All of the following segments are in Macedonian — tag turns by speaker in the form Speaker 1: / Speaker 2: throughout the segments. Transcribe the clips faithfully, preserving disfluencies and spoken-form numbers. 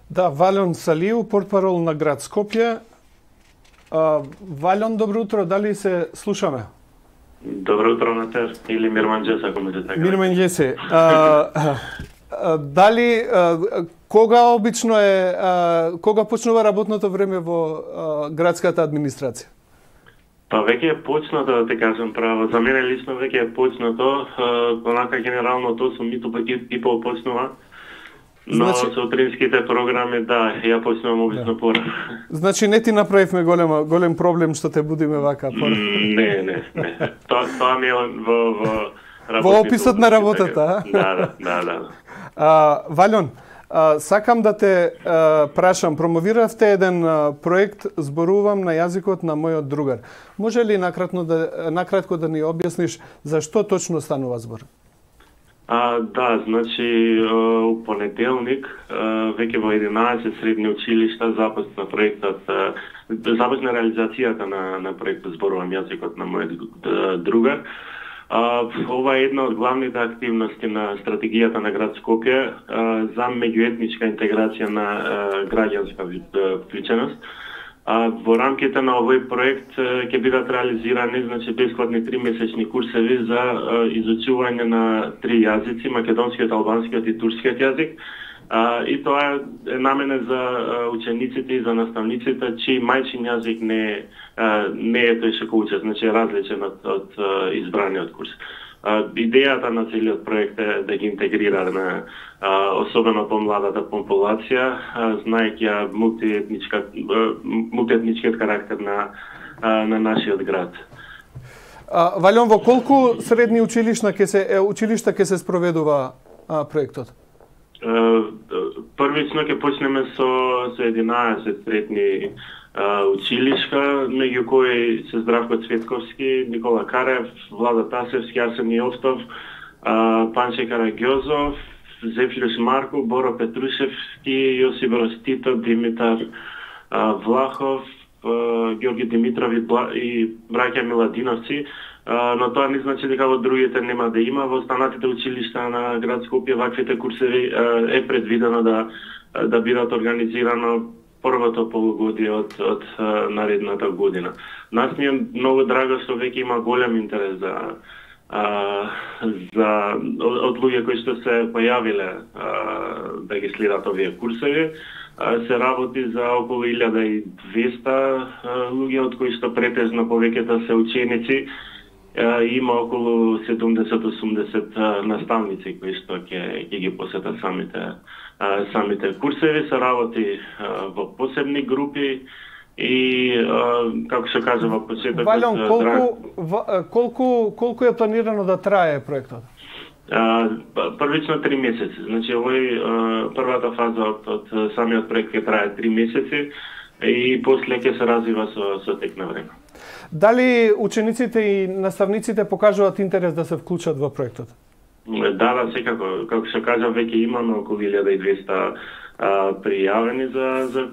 Speaker 1: Да, Валјон Салиу, портпарол на град Скопје. Валјон, добро утро, дали се слушаме?
Speaker 2: Добро утро на те, или Мирманџес, ако може така.
Speaker 1: Мирманџесе, дали, кога обично е, кога почнува работното време во градската администрација?
Speaker 2: Па веќе е почнато, да те кажам право. За мене лично веќе е почнато, онака генерално тоа сум миту пак и пол почнува. Но значи, со утринските програми, да, ја почнувам обично да. Порано.
Speaker 1: Значи не ти направивме голема, голем проблем што те будиме вака порано?
Speaker 2: Не, не, не. Тоа, тоа ми е во, во
Speaker 1: работите. Во описот на работата, а?
Speaker 2: Да, да, да.
Speaker 1: А, Валјон, а, сакам да те а, прашам, промовиравте еден а, проект «Зборувам на јазикот на мојот другар». Може ли накратко да, накратко да ни објасниш за што точно станува збор?
Speaker 2: А, да, значи, у понеделник, веќе во единаесет средни училишта започна проектот, започна реализацијата на, на проектот «Зборувам јазикот на мојот другар». А, ова е една од главните активности на стратегијата на град Скопје за меѓуетничка интеграција на граѓанска вклученост. А, во рамките на овој проект ќе бидат реализирани, значи, бесплатни тримесечни курсеви за а, изучување на три јазици, македонскиот, албанскиот и турскиот јазик. А, и тоа е наменет за а, учениците и за наставниците, чиј мајчин јазик не, а, не е тој што учат, значи е различен од, од а, избраниот курс. А, идејата на целиот проект е да ги интегрира на особено помладата популација, знаејќи мултиетничка мултиетничкиот карактер на на нашиот град.
Speaker 1: А, Валјон, во колку средни училишта ќе се училишта ќе се спроведува а, проектот?
Speaker 2: Првично ќе почнеме со со единаесет средни училишта, меѓу кои се Здравко Цветковски, Никола Карев, Влада Тасевски, Арсен Јовстов, Панче Караѓозов, Зефирос Марко, Боро Петрушевски, Јосип Ростито, Димитар Влахов, Георги Димитров и браќа Миладиновци, но тоа не значи дека во другите нема да има. Во останатите училишта на град Скопје ваквите курсеви е предвидено да да бидат организирано првото полугодие од од наредната година. Нас ни е многу драго што веќе има голем интерес за А, за од луѓе кои што се појавиле а, да ги следат овие курсеви. А, се работи за околу илјада и двесте луѓе, од кои што претежно повеќето се ученици. А, има околу седумдесет до осумдесет наставници кои што ќе ќе ги посетат самите а, самите курсеви. Се работи а, во посебни групи. И како се кажа во почетокот,
Speaker 1: Валјон, колку колку колку е планирано да трае проектот?
Speaker 2: Првично три месеци. Значи овој првата фаза од, од самиот проект ќе трае три месеци и после ќе се развива со со тек на време.
Speaker 1: Дали учениците и наставниците покажуваат интерес да се вклучат во проектот?
Speaker 2: Да, да, секако. Како се кажа, веќе имаме околу илјада и двесте пријавени за за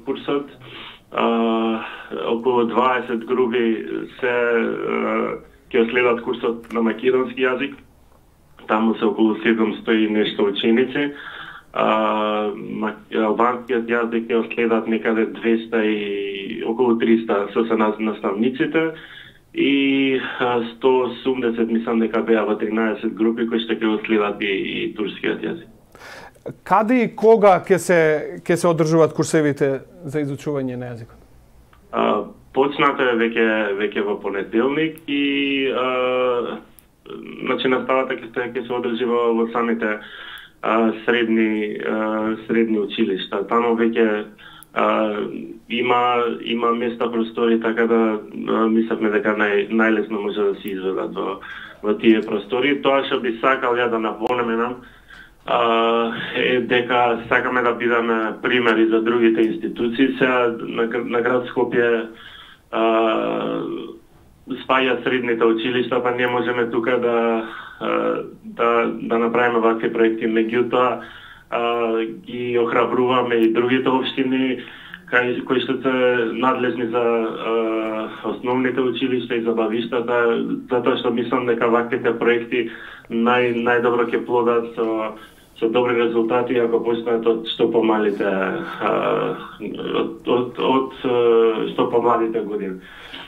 Speaker 2: курсот. Uh, околу дваесет групи се ќе uh, следат курсот на македонски јазик. Таму се околу седумстотини и нешто ученици. Uh, албанскиот јазик ќе следат некаде двесте и околу триста со се наставниците и uh, сто и осумдесет мислам дека беа во тринаесет групи кои што ќе следат и, и турскиот јазик.
Speaker 1: Каде и кога ќе се ќе се одржуваат курсевите за изучување на јазикот?
Speaker 2: А, почнато е веќе веќе во понеделник и а, значи наставата ќе се ќе се одржи во, во самите а, средни а, средни училишта. Таму веќе а, има има места, простори, така да мислевме дека нај најлесно може да се изведат во во тие простори. Тоа што би сакал ја да напоменам Uh, е дека сакаме да бидеме примери за другите институции. Сега на, на град Скопје uh, спаја средните училишта, па не можеме тука да uh, да да направиме вакви проекти. Меѓутоа uh, ги охрабруваме и другите општини кај кои што се надлежни за uh, основните училишта и забавиштата, затоа што мислам дека ваквите проекти нај најдобро ќе плодат со со добри резултати, ако почнат од што помалите а, од, од, од што помладите години.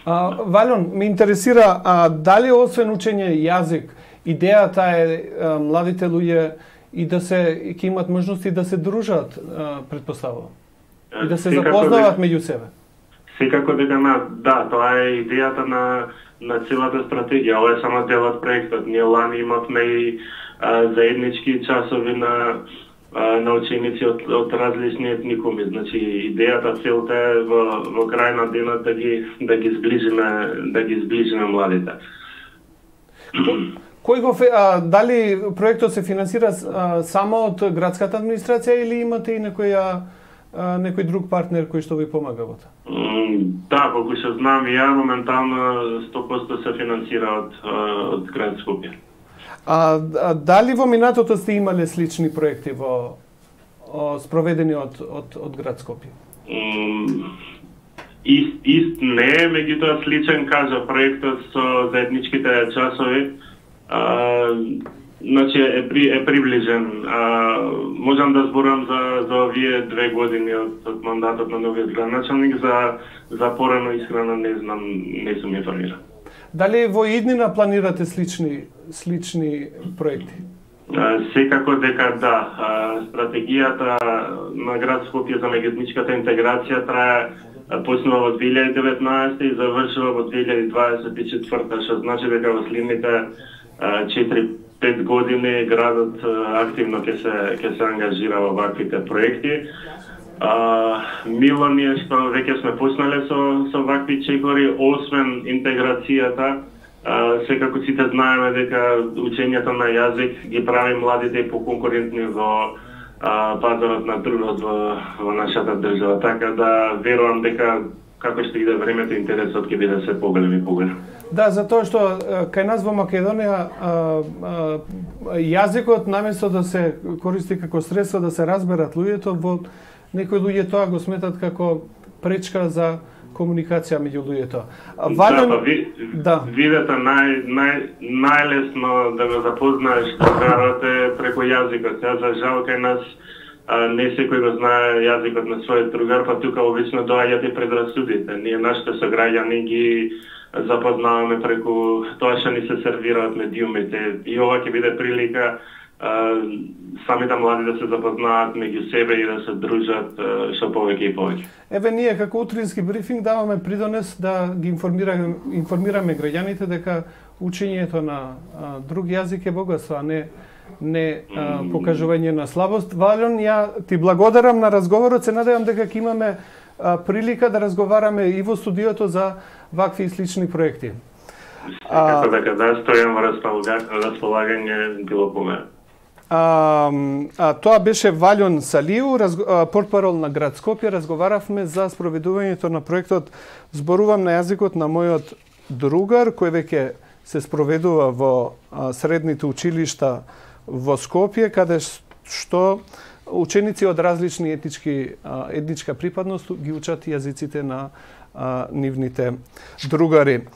Speaker 1: А, Валјон, ме интересира, а, дали освен учење јазик, идејата е а, младите луѓе и да се ќе имат можности да се дружат, а, предпоставувам, и да се запознават меѓу себе?
Speaker 2: Секако дека на, да, тоа е идејата на на целата стратегија. Ова е само дел од проектот. Ние лани имавме и а, заеднички часови на а, на ученици од, од различни етникуми. Значи идејата, целта е во во крај на денот да ги да ги сближиме, да ги сближиме младите.
Speaker 1: Кој го а, дали проектот се финансира а, само од градската администрација или имате и некоја а, некој друг партнер кој што ви помага во тоа?
Speaker 2: Да, колку што знам ја, моментално сто проценти се финансира од од град Скопје.
Speaker 1: А, а дали во минатото сте имале слични проекти во о, спроведени од од од град Скопје?
Speaker 2: Mm, ист ист не, меѓутоа сличен кажа проектот со заедничките часови. А, значи е при е приближен. А, можам да зборам за за овие две години од, од мандатот на новиот градоначалник, за за порано искрено не знам, не сум информиран.
Speaker 1: Дали во иднина планирате слични слични проекти?
Speaker 2: А, секако дека да. А, стратегијата на град Скопје за меѓуетничката интеграција трае почнува во две илјади и деветнаесета и завршува во две илјади дваесет и четврта, што значи дека во следните четири-пет години градот активно ќе се ќе се ангажира во ваквите проекти. А, мило ни е што веќе сме почнале со со вакви чекори, освен интеграцијата. А, секако сите знаеме дека учењето на јазик ги прави младите поконкурентни во а, пазарот на трудот во, во нашата држава. Така да верувам дека како што иде времето, интересот ќе биде се поголем и поголем.
Speaker 1: Да, затоа што кај нас во Македонија а, а, јазикот наместо да се користи како средство да се разберат луѓето, во некои луѓе тоа го сметат како пречка за комуникација меѓу луѓето.
Speaker 2: Вален... Да, па ви, да. Видете, нај, нај, најлесно да го запознаеш другарот е преку јазикот. Ја за жал кај нас а, не секој го знае јазикот на својот другар, па тука обично доаѓаат и предрасудите. Ние нашите сограѓани ги запознаваме преку тоа што ни се сервираат медиумите. И ова ќе биде прилика а, самите млади да се запознаат меѓу себе и да се дружат што повеќе и повеќе.
Speaker 1: Еве ние како утрински брифинг даваме придонес да ги информираме информираме граѓаните дека учењето на а, друг јазик е богатство, а не не а, покажување на слабост. Валјон, ја ти благодарам на разговорот, се надевам дека ќе имаме а, прилика да разговараме и во студиото за вакви и слични проекти.
Speaker 2: Како дека да стојам во располагање било по мене.
Speaker 1: А, а, тоа беше Валјон Салију, портпарол на град Скопје. Разговаравме за спроведувањето на проектот Зборувам на јазикот на мојот другар, кој веќе се спроведува во а, средните училишта во Скопје, каде што ученици од различни етнички а, етничка припадност ги учат јазиците на а, нивните другари.